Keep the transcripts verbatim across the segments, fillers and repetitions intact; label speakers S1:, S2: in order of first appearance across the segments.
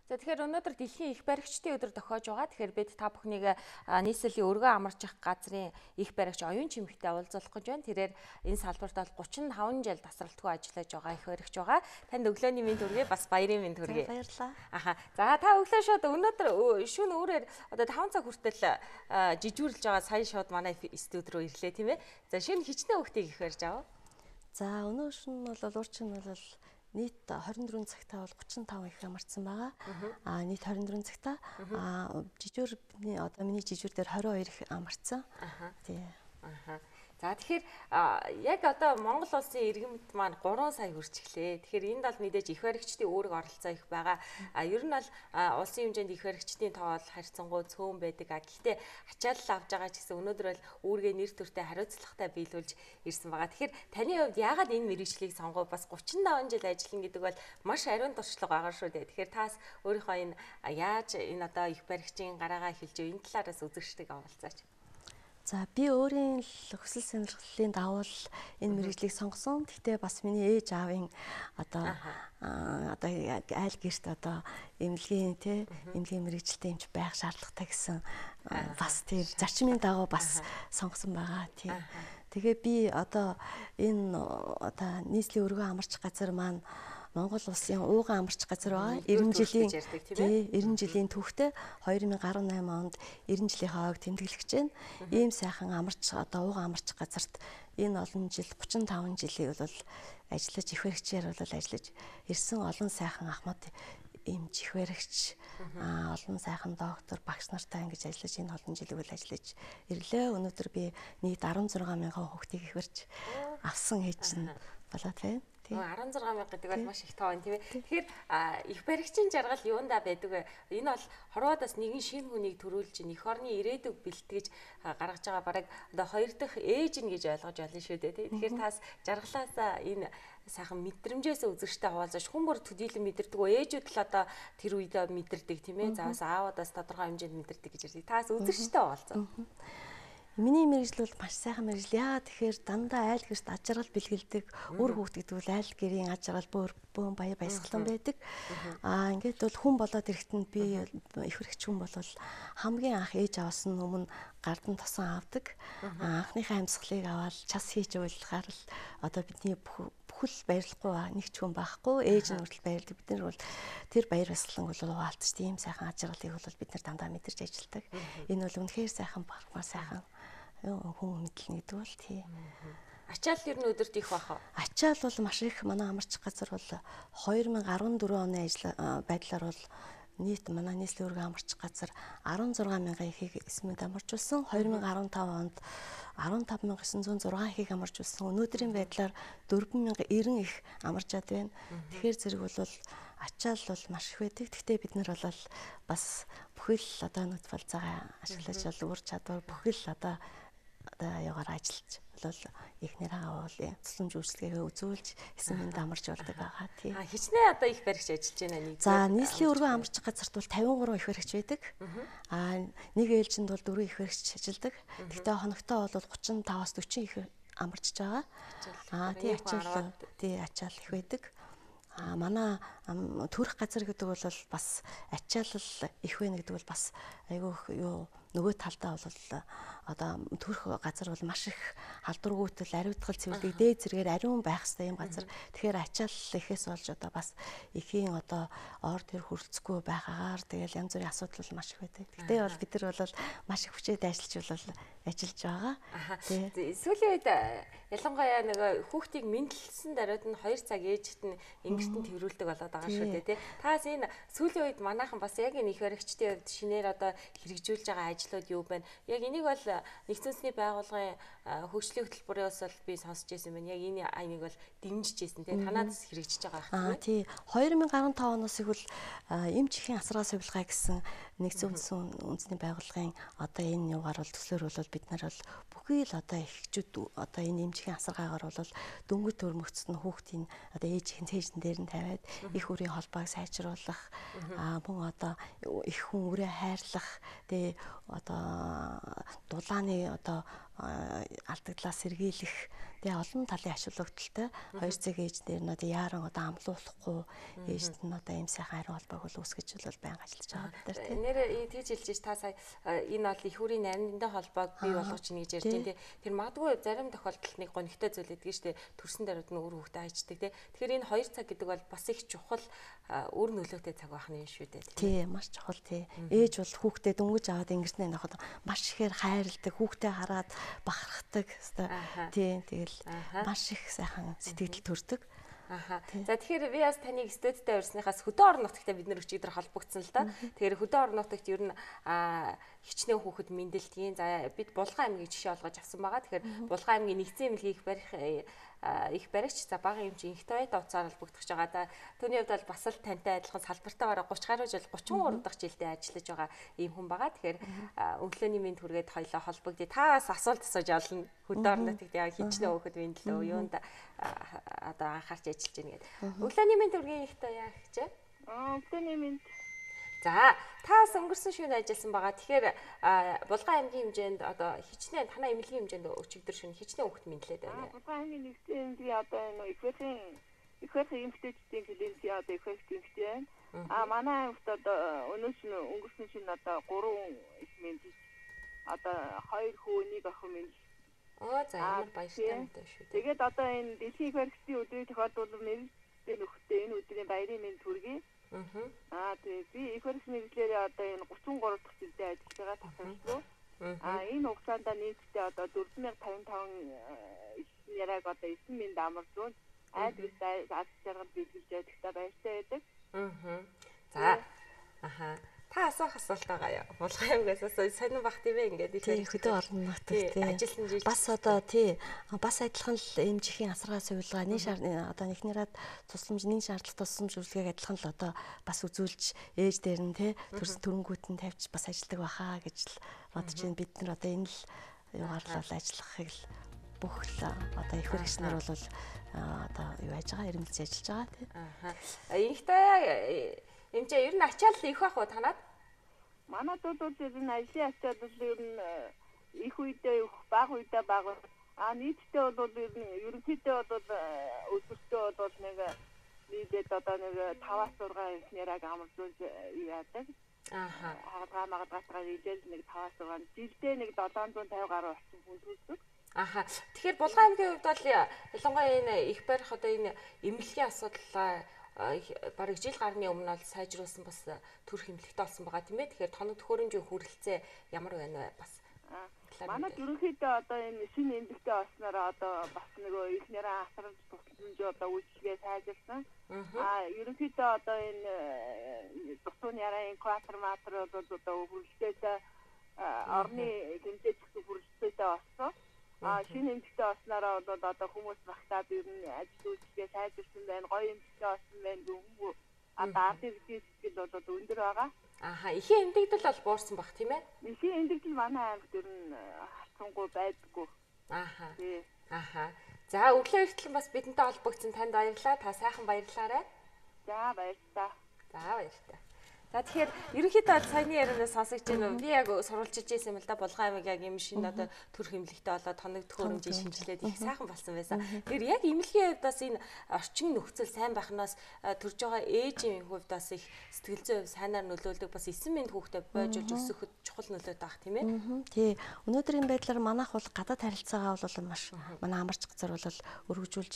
S1: За тэгэхээр өнөөдөр дэлхийн их баригчдын өдөр тохиож байгаа. Тэгэхээр бид та бүхнийг нийслэлийн өргөө амарчих газрын их баригч оюун чимэгтэй уулзах гэж байна. Тэрээр энэ салбарт бол гучин и таван жил тасралтгүй ажиллаж байгаа их баригч байгаа. Танд өглөөний мэнд хүргэе, бас баярын мэнд хүргэе.
S2: Баярлалаа.
S1: Аха. За та өглөө шууд өнөөдөр шөнө өөрөөр одоо таван цаг хүртэл жижүүрлж байгаа сая шууд манай студ руу ирлээ тийм ээ. За шинэ хичнээн хүүхдийг их барьж аваа.
S2: За өнөө шөнө бол уурчин бол нийт хорин дөрвөн цагтаа бол гучин и таван их амарсан байгаа. Аа нийт хорин дөрвөн цагтаа аа жижүүр бидний одоо миний жижүүр дээр хорин хоёр их амарсан. Тий.
S1: Аха. За тэгэхээр яг одоо Монгол улсын иргэмт маань гурван сая хүрчихлээ. Тэгэхээр энд бол мэдээж их баригчдын үүрэг оролцоо их байгаа. А ер нь бол улсын хэмжээнд их баригчдын тоо бол харьцангуй цөөн байдаг. А гэхдээ ачаалал авж байгаа ч гэсэн өнөөдөр бол үүргээ нэр төртэй хариуцлагатай биелүүлж ирсэн байгаа. Тэгэхээр таны хувьд яагаад энэ мэргэжлийг сонгов? Бас гучин и таван жил ажиллана гэдэг бол маш ариун туршлага байгаа шүү дээ. Тэгэхээр таас өөрийнхөө энэ яаж энэ одоо их баригчийн гараагаа хэлж энэ талаараас үзэгчдэг авалцаач.
S2: За би өөрийн хүсэл сонирхлын дагуу энэ мэргэжлийг сонгосон. Гэхдээ бас миний ээж аавын одоо одоо айл гэрт одоо эмнэлгийн тий эмнэлгийн мэргэжилтэй юмч байх шаардлагатай гэсэн бас тийм зарчмын дагуу бас сонгосон байгаа тий. Тэгээ би одоо энэ одоо нийслэлийн өргөө амарч газар маань Монгол улсын ууган амарч газар байгаа. эрдэнэ жилийн тий эрдэнэ жилийн түүхтэй хоёр мянга гаруй найман онд эрдэнэ жилийн хавааг тэмдэглэж байна. Ийм сайхан амарч одоо ууган амарч газарт энэ олон жил гучин и таван жилийг бол ажиллаж их баригчаар бол ажиллаж ирсэн олон сайхан ахмад эмч их баригч аа олон сайхан доктор багш нартай ингэж ажиллаж энэ олон жилиг бол ажиллаж ирлээ. Өнөөдөр би нийт арван зургаан мянган хүүхдийг их барьж авсан ээж нь болоод байна.
S1: арван зургаан мянга гэдэг бол маш их тоо юм тийм ээ. Тэгэхээр их баригчийн жаргал юундаа байдаг вэ? Энэ бол хорвоодоос нэгэн шинэ хүнийг төрүүлж эх орны ирээдүг бэлтгэж гаргаж байгаа бараг одоо хоёр дахь ээж нь гэж ойлгож байна шүү дээ. Тэгэхээр тас жаргалаасаа энэ сайхан мэдрэмжээс үзэгчтэй хуваалцаж хүн бүр төдийлөн мэдэрдэг үү? Ээжүүд л одоо тэр үедээ мэдэрдэг тийм ээ. Заавал аавуудаас тодорхой хэмжээнд мэдэрдэг гэж ярьдаг. Таас үзэгчтэй хуваалцаа.
S2: Миний мэргэжил бол маш сайхан мэргэжил. Яа тэгэхээр дандаа айл гэрт аж аргал бэлгэлдэг. Үр хүүхд гэдэг бол айл гэрийн аж аргал бөөр бөөн баяр баясгалан байдаг. Аа ингээд бол хүн болоод ирэхэд би их хэрэгч хүн бол хамгийн анх ээж аваас нь өмнө гардан тосон авдаг. Анхныхаа амьсгалыг аваад час хийж уулахаар л одоо бидний бүхэл баярлахгүй нэг ч хүн байхгүй. Ээж нь хүртэл баярлдаг. Бид нар бол тэр баяр баясгалан бол хуваалцаж тийм сайхан аж аргалыг бол бид нар дандаа мэдэрч ажилладаг. Энэ бол үнэхээр сайхан багмаар сайхан хүн мэдлэн гэдэг бол тий.
S1: Ачаал ер нь өдөрт их баха.
S2: Ачаал бол маш их манай амарч газар бол хоёр мянга арван дөрвөн оны ажил байдлаар бол нийт манай нийслэлийн өргөө амарч газар арван зургаан мянган ихийг эсмэд амарчулсан. хоёр мянга арван таван онд арван тав мянга есөн зуун зургаан ихийг амарчулсан. Өнөөдрийн байдлаар дөрвөн мянга эрдэн их амарчаад байна. Тэгэхээр зэрэг бол ачаал бол маш их байдаг. Гэхдээ бид нар бол бас бүхэл одоо нүд балцаагаа ашиглаж бол ур чадвар бүхэл одоо одоо ягаар ажиллаж бол ихнэрээ бол цэцлэмж үйлчлэгээ үзүүлж эсэмд амарч болдог байгаа тий.
S1: А хичнээн одоо их баригч ажиллаж байна нэг.
S2: За нийслэлийн өргөө амарч газарт бол тавин гурван их баригч байдаг. А нэг ээлжинд бол дөрвөн их баригч ажилладаг. Гэхдээ хоногтоо бол гучин и таваас дөрвөн их амарчж байгаа. А тий ачаал тий ачаал их байдаг. А манай төрөх газар гэдэг бол бас ачаалал их байна гэдэг бол бас айгүй юу нөгөө талдаа бол одоо төрөх газар бол маш их халдваргүйтэл ариутгал цэвэрлэг дээд зэрэгээр ариун байх хэрэгтэй юм газар. Тэгэхээр ачаалал ихээс болж одоо бас эхийн одоо ор төр хүрэлцэхгүй байхаагаар тэгэл янз бүрийн асуудал бол маш их байдаг. Гэтэ бол бид нар бол маш их хүчээд ажиллаж бол ажиллаж байгаа.
S1: Сүүлийн үед ялангуяа нэг хүүхдийг мэндэлсэн даруйд нь хоёр цаг ээжт нь ингэрт нь тэрүүлдэг болоод байгаа шүү дээ тий. Таас энэ сүүлийн үед манайхан бас яг энэ их баригчдын хувьд шинээр одоо хэрэгжүүлж байгаа ажлууд юу байна? Яг энийг бол нэгдсэн үндэсний байгууллагын хөгжлийн хөтөлбөрөөс бол би сонсч байсан байна. Яг энэ айныг бол дэмжиж байсан тий. Танаас хэрэгжиж байгаа
S2: байх тийм. Тий. хоёр мянга гаруй таван оноос их бол эмч эхийн асраа сувилгаа гэсэн нэгдсэн үндэсний байгууллагын одоо энэ югаар бол төслөөр бол бид нар бол бүхий л одоо эхчүүд одоо энэ эмчхийн асаргаагаар бол дөнгөж төрмөгцсөн хүүхдийн одоо ээжийн цээжин дээр нь тавиад их үрийн холбоог сайжруулах аа мөн одоо их хүн үрээ хайрлах тэгээ одоо дулааны одоо алдагдлаас сэргийлэх тэгээ олон талын ач холбогдолтой хоёр цаг ээжнэр нь одоо яаран одоо амлуулахгүй ээжт нь одоо ийм сайхан ариун холбоог бол үүсгэж бол байнга ажиллаж байгаа бид нар тийм.
S1: Нэр тийж хэлж та сая энэ бол их хүрийн нарийнтай холбоог бий болгож чинь гэж ярьж байна тийм. Тэр магадгүй зарим тохиолдолд нэг гонигтай зүйл гэдэг нь шүү дээ. Төрсөн даруйд нь өөр хүүхдээ хайчдаг тийм. Тэгэхээр энэ хоёр цаг гэдэг бол бас их чухал өөр нөлөөтэй цаг байх нь юм шүү дээ.
S2: Тийм маш чухал тийм. Ээж бол хүүхдээ дөнгөж аваад ингэснээр нөхөд маш ихээр хайрладаг, хүүхдээ хараад бахархдаг хэвээр тийм. Тэгэл маш их сайхан сэтгэл төрдөг.
S1: Аха. За тэгэхээр би бас таныг студидтэй урьсныхаас хөдөө орон нутагтай бид нэр өчигдөр холбогдсон л да. Тэгэхээр хөдөө орон нутагт ер нь хичнээн хүүхэд мэндэлтгийн. За бид Булган аймгийг жишээ олгож авсан байгаа. Тэгэхээр Булган аймгийн нэгдсэн эмнэлгийг барих их баригч за бага юм чи инх тоёта уцаар холбогдож байгаа. Да түүний хувьд бол бас л тантай адилхан салбартаа бараг гуравч гаруй жил гуравчин гурав дахь жилдээ ажиллаж байгаа ийм хүн байгаа. Тэгэхээр өглөөний мэнд хүргээд хоёлоо холбогдъё. Та бас асуулт асууж олно. Хөдөө орон нутагт яг хичнээн хүүхэд мэндэлөө юунд одоо анхаарч ажиллаж байна гэдэг. Өглөөний мэнд хүргийн их тоёа гэжээ.
S3: Аа өглөөний мэнд.
S1: За та бас өнгөрсөн шөнө ажилласан байгаа. Тэгэхээр Булган аймгийн хэмжээнд одоо хичнээн танай эмнэлгийн хэмжээнд өчигдөр шөнө хичнээн хүүхэд мэдлээд байна.
S3: Булган аймгийн нэгдсэн эмнэлгийн одоо энэ ихвэрийн ихвэрийн эмэгтэйчдийн клиникийн одоо ихвэрийн эмэгтэй байна. Аа манай аймагт одоо өнөөдөр шөнө өнгөрсөн шөнө одоо гурван их мэдлэг одоо хоёр хүү нэг охин мэдлэг.
S1: Оо за ямар баяртай мэдээ шүү дээ.
S3: Тэгээд одоо энэ дэлхийн ихвэрийн өдрийн тохиолдуулбал нэртэй нөхдөд энэ өдрийн баярын мэнд хүргэе. Аа тэгээ би их хөрс мэдлэлээр одоо энэ гуравчин гурав дахь жилдээ ажиллаж байгаа тасалбар. Аа энэ хугацаанд нийтдээ одоо дөрвөн мянган тавин таван яриаг одоо эзэн минь амарлуун айд үс аз жаргал биелүүлж байдагтаа баяртай байдаг.
S1: Аа. За. Аха. Та асуух асуулт байгаа юу? Булган аймгаас асуу сонин бах тийм ээ ингээд
S2: их хөдөө орон нутагт тийм. Бас одоо тий бас адилхан л эмжихийн асаргаа сувилгаа нэг шаар одоо нэгнийраад тусламж нэг шаардлага тусламж үйлчлэгийг адилхан л одоо бас үзүүлж ээж дээр нь тий төрс төрөнгүүт нь тавьж бас ажилладаг баха гэж л бодож байна. Бид нар одоо энэ л юугаар л ажиллахыг л бүх л одоо их хэрэгчнэр бол одоо юу яаж байгаа ирэмэлж ажиллаж байгаа тий.
S1: Аха. Ихтэй эмчээ ер нь ачаал их бах уу танад?
S3: Манайд бол ер нь ажлын ачаал бол ер нь их үедээ их бага үедээ бага. А нийтдээ бол ер нь ерөнхийдөө бол өдөртөө бол нэг нийтэд одоо нэг таваас зургаан инженераг амарлуулж яадаг. Аха. Хагаа магадгатгаа нийлээд нэг таваас зургаан жилдээ нэг седем зуун тавин гаруй орчим хүн төлдөг.
S1: Аха. Тэгэхээр Булган аймгийн хувьд бол ялангуяа энэ их барих одоо энэ эмнэлгийн асуудал бараг жил гарны өмнө бол сайжруулсан бас төрх эмнэлэгтэй болсон байгаа тийм ээ. Тэгэхээр тоног төхөөрөмжийн хүрэлцээ ямар байна вэ бас?
S3: Манай ерөнхийдөө одоо энэ шинэ эмнэлэгтэй болсноор одоо бас нөгөө ихнэрээ асарч тусламж одоо үйлчлэгээ сайжирсан. Аа ерөнхийдөө одоо энэ тусууны яраа инкватор матер бол одоо хүрэлцээтэй орны хэмжээч хүрэлцээтэй болсон. А шинэ эмнэлэгтэй болсноор бол одоо хүмүүс багтаад ер нь ажил үйлчлэгээ сайжирсан байна. Гоё эмнэлэгтэй болсон байна гэнгүй. А даатын сэтгэл бол одоо өндөр байгаа.
S1: Аха, ихийн эмнэлэгдэл бол буурсан баг тийм ээ?
S3: Ихийн эмнэлэгдэл манай аймагт ер нь хацсангүй байдаггүй.
S1: Аха. Аха. За өглөө эртлэн бас бидэнтэй холбогдсон танд баярлалаа. Та сайхан баярлаарай.
S3: За баярлалаа.
S1: За баярлалаа. За тэгэхээр ерөнхийдөө саяны ярианаас сонсогч байна уу? Би яг сурвалж ижсэн юм л да. Булган аймаг яг юм шинэ одоо төрх эмнэлэгтэй болоод тоног төхөөрөмжийг шинжилээд их сайхан болсон байсан. Тэгэхээр яг эмнэлгийн хувьд бас энэ орчин нөхцөл сайн байхнаас төрж байгаа ээжийн хувьд бас их сэтгэл зүйн сайнаар нөлөөлдөг бас эсэн мэнд хүүхдэд бойжуулж өсөхөд чухал нөлөөтэй байх тийм ээ.
S2: Тий. Өнөөдрийн байдлаар манайх бол гадаад харилцаагаа бол маш манай амарч газар бол өргөжүүлж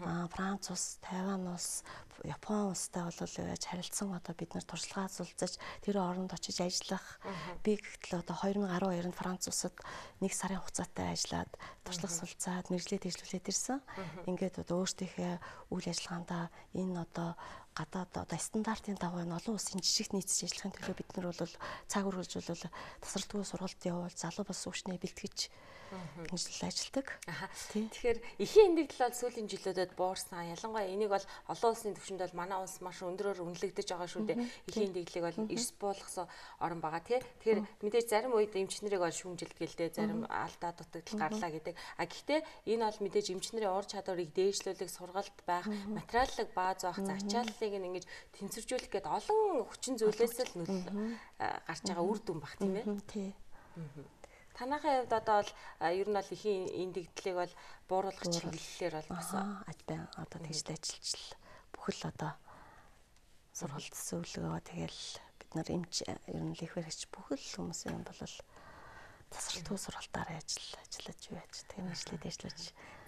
S2: байна. Франц улс, Тайван улс, Япон улстай бол яаж харилцсан одоо бид нар туршлагаа суулцаж тэр оронд очиж ажиллах. Би гэтэл одоо two thousand twelve онд Франц улсад нэг сарын хугацаатай ажиллаад туршлага суулцаад мэргэжлээ дэвшлүүлээд ирсэн. Ингээд одоо өөртөөхөө үйл ажиллагаандаа энэ одоо гадаад одоо стандартын дагуу энэ олон улсын жижиг нийцэж ажиллахын төлөө бид нар бол цаг үргэлж бол тасралтгүй сургалт явуул залуу бас өвчнээ бэлтгэж ингэж ажилладаг.
S1: Тэгэхээр эхийн эмнэлэгдэл бол сүүлийн жилүүдэд буурсан. Ялангуяа энийг бол олон улсын түвшинд бол манай улс маш өндөрөөр үнэлэгдэж байгаа шүү дээ. Эхийн эмнэлэглийг бол эрс буулгасан орн байгаа тий. Тэгэхээр мэдээж зарим үед эмчнэрийг бол шүүмжилдэг гэлдээ, зарим алдаа дутагдал гарлаа гэдэг. А гэхдээ энэ бол мэдээж эмчнэрийн ур чадварыг дээшлүүлэх, сургалт байх, материаллык бааз байх, ачааллыг ингэж тэнцвэржүүлэх гээд олон хүчин зүйлээс л нөл гарч байгаа үр дүн баг тийм ээ.
S2: Тий.
S1: Танайхын хувьд одоо бол ер нь бол ихийн эндэгдлийг бол бууруулах чиглэлээр бол гэсэн.
S2: Аж бай одоо тэгж ажиллаж бүхэл одоо сургалт зөвлөгөө тэгэл бид нар эмч ер нь их баригч бүхэл хүмүүсийн бол тасралтгүй сургалтаараа ажил ажиллаж байж тэгээ мэдлээд ажиллаж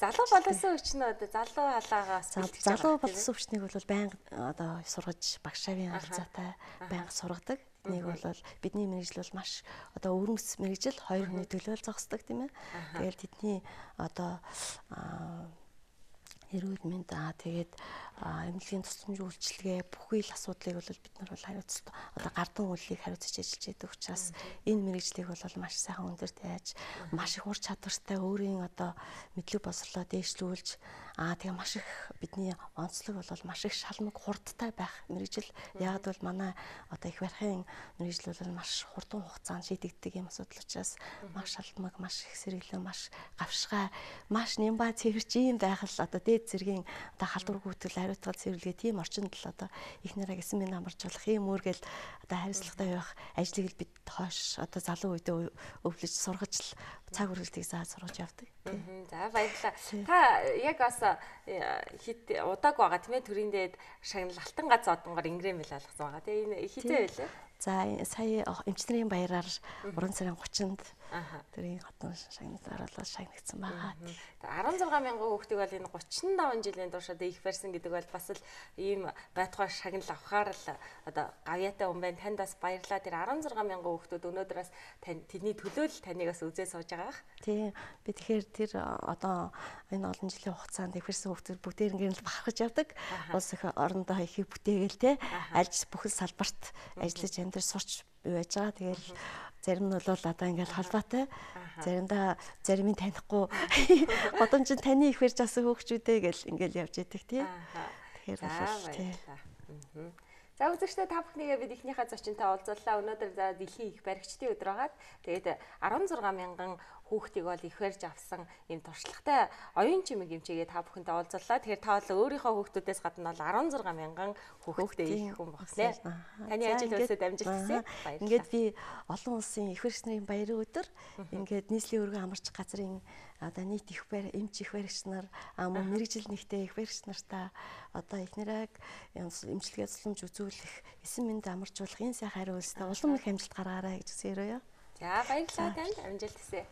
S1: залуу болоосон хүчнээ одоо залуу халаагаас
S2: залуу болсон хүчнийг бол байнга одоо сургаж багшаавын харилцаатай байнга сургадаг. Нэг бол бидний мэрэгжил бол маш одоо өрнөс мэрэгжил хоёр хүний төлөөл зогсдог тийм ээ. Тэгэл тэдний одоо эрүүл мэнд аа тэгээд эмнэлгийн тусламж үйлчилгээ бүхий л асуудлыг бол бид нар бол хариуцлаа одоо гардан үйлийг хариуцж ажиллаж байдаг учраас энэ мэрэгжлийг бол маш сайхан өндөрт яаж маш их ур чадвартай өөрийн одоо мэдлэг боловсролоо дээшлүүлж аа тэгээ маш их бидний онцлог бол маш их шалмаг хурдтай байх мэрэгжил. Яг бол манай одоо их барихын мэрэгжил бол маш хурдан хугацаанд шийдэгддэг юм асуудал учраас маш шалмаг маш их сэргэлэн маш гавшгай маш нямба цэвэрч юм байх л одоо дээд зэргийн одоо халдвар гүйтгэл хариуцлага цэвэрлэгээ тийм орчинд л одоо их нараа гэсэн минь амарчулах юм үүргээл одоо хариуцлагатай байх ажлыг л бид хойш одоо залуу үедээ өвлөж сургаж л цаг үргэлтийг заа сургаж явдаг.
S1: За баярлалаа. Та яг бас хит удааг байгаа тийм ээ төрийн дээд шагнал алтан гац одонгоор ингрэм мэл алгасан байгаа. Тэгээ энэ хитээ байлаа.
S2: За сая эмчнэрийн баяраар уран сарын гуравчнд төрийн хотон шагналаар бол шагнагдсан байгаа.
S1: арван зургаан мянган хүүхдийг бол энэ гучин таван жилийн турш одоо их барьсан гэдэг бол бас л ийм байтугай шагнал авахаар л одоо гавьяатай хүн байна. Танд бас баярлалаа. Тэр арван зургаан мянган хүүхдүүд өнөөдрөөс тэдний төлөө л таныг бас үзээ сууж байгаа бах.
S2: Тийм. Би тэгэхээр тэр одоо энэ олон жилийн хугацаанд их барьсан хүүхдүүд бүгдээр ингээд бахархаж явдаг. Улс их орондоо ихийг бүтээгээл те альж бүхэл салбарт ажиллаж энэ төр сурч байж байгаа. Тэгэл зарим нь бол одоо ингээд холбоотой. Заримдаа зарим нь танихгүй годомж таны их барьж авсан хүүхчүүдээ гэл ингээд явж идэг тий. Тэгэхээр бол тий.
S1: За үзэгчдээ та бүхнийгээ бид эхнийхээ зочинтой уулзлаа. Өнөөдөр за дэлхийн их баригчдын өдөр байгаад тэгээд арван зургаан мянган хүүхдийг бол их барьж авсан ийм туршлагатай оюун чимэг эмчээгээ та бүхэнтэй уулзлаа. Тэгэхээр та бол өөрийнхөө хүүхдүүдээс гадна бол арван зургаан мянган хүүхдтэй их хүн багснаа. Таны ажил үйлсэд амжилт хүсье.
S2: Ингээд би олон улсын их баригч нарын баярын өдөр ингээд нийслэлийн өргөн амарч газрын одоо нийт их барь эмч их баригч нар мөн мэрэгжил нэгтэй их баригч нартаа одоо эхнэрэг эмчилгээ тусламж үзүүлэх эсэн мэнд амарчуулах энэ сайхан хариу үйлстэй улам их амжилт гаргаарай гэж хүсээрээ.
S1: За баярлалаа танд амжилт хүсье.